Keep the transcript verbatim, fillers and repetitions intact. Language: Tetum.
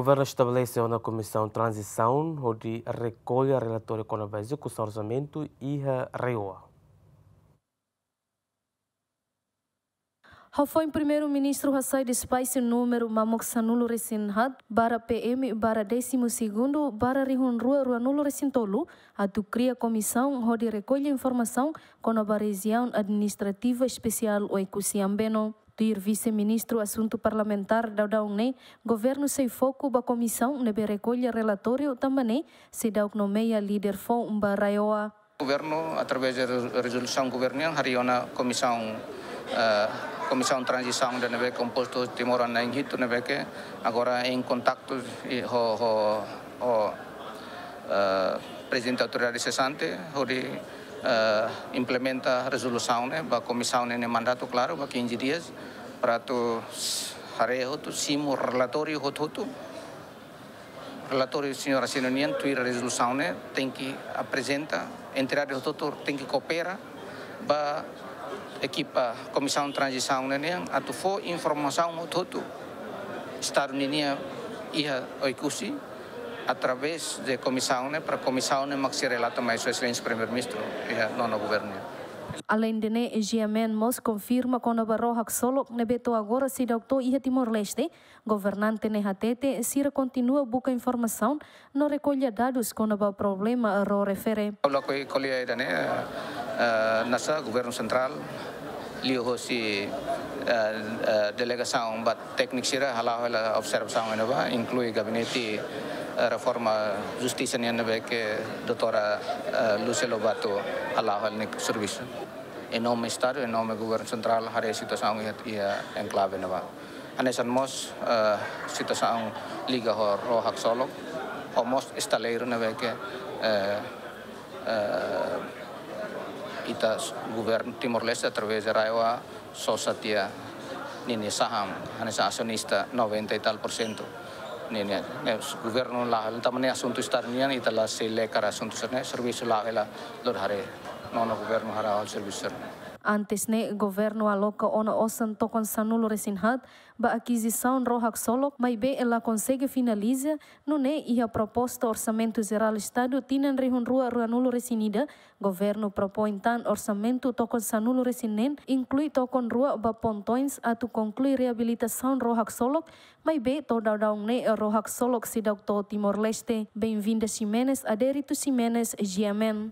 Governu estabelese ona Komisaun Tranzisaun hodi rekolla relatóriu kona-ba ezekusaun orsamentu iha RAEOA. Hafoin Primeiru-Ministru hasai despaxu númeru mamuk sanulu resin haat barra P M barra décimo segundo barra rihun rua ruanulu resin tolu, atu kria komisaun hodi rekolla informasaun kona-ba Rejiaun Administrativa Espesiál Oekusi Ambeno. Tuir Vise-Ministru Asuntu Parlamentár daudaun ne'e, governu sei foku ba komisaun ne'ebé rekolla relatóriu, tanba ne'e seidauk nomeia líder foun ba RAEOA. Governu, através de re-, rezolusaun governu nian, harii ona komisaun, eh, komisaun tranzisaun ida ne'ebé kompostu timoroan na'in hitu ne'ebé ke agora em kontaktu ho, ho, ho, eh, Prezidente Autoridade sesante, hodi, eh, implementa rezolusaun ne'e ba komisaun ne'e nia mandatu klaru ba quinze dias, para atu s-, haree hotu, simu relatóriu hotu-hotu. Relatóriu señór asina nian, tuir rezolusaun ne'e, tenke aprezenta, entidade hotu-hotu tenke koopera ba ekipa komisaun tranzisaun ne'e nian, atu fó informasaun hotu-hotu Estadu ninia iha Oekusi, através de komisaun ne'e, para komisaun ne'e mak sei relata mai Sua Exelénsia Primeiru-Ministru iha nonu governu nian. Alende ne'e, G M N mós konfirma kona-ba ró haksolok ne'ebé to'o agora seidauk to'o iha Timor-Leste. Governante ne'e hatete, sira kontinua buka informasaun no rekolla dadus kona-ba problema ró refere. Ha'u lakohi ko'alia ida-ne'e, eh, hanesan governu sentrál, liuhosi, eh, eh, delegasaun ba tékniku sira hala'o hela observasaun iha ne'ebá, inklui gabinete, eh, reforma justisa nian ne'ebé ke doutora, eh, Lúcia Lobato hala'o hela nia servisu. Em nome Estadu, em nome governu sentrál, haree situasaun iha, iha enklave ne'ebá. Hanesan mós, eh, situasaun liga ho ró haksolok, ho mós estaleiru ne'ebé ke, eh, eh, ita s-, governu Timor-Leste através de RAEOA sosa tiha ninia saham, hanesan asionista noventa e tal por cento. Ninia, ne'e, governu la'o, tanba ne'e asuntu Estadu nian, ita la sei lekar asuntu sira-ne'e, servisu la'o hela, lori haree, nonu governu hala'o servisu sira-ne'e. Antes ne'e, governu aloka ona osan tokon sanulu resin haat ba akizisaun ró haksolok, maibé la konsege finaliza, nune'e iha proposta Orsamentu Jerál Estadu tinan rihun rua ruanulu resin ida, governu propoin tan orsamentu tokon sanulu resin neen, inklui tokon rua ba pontoins atu konklui reabilitasaun ró haksolok, maibé to'o daudaun ne'e ró haksolok seidauk to'o Timor-Leste. Benvinda Ximenes, Adérito Ximenes, G M N.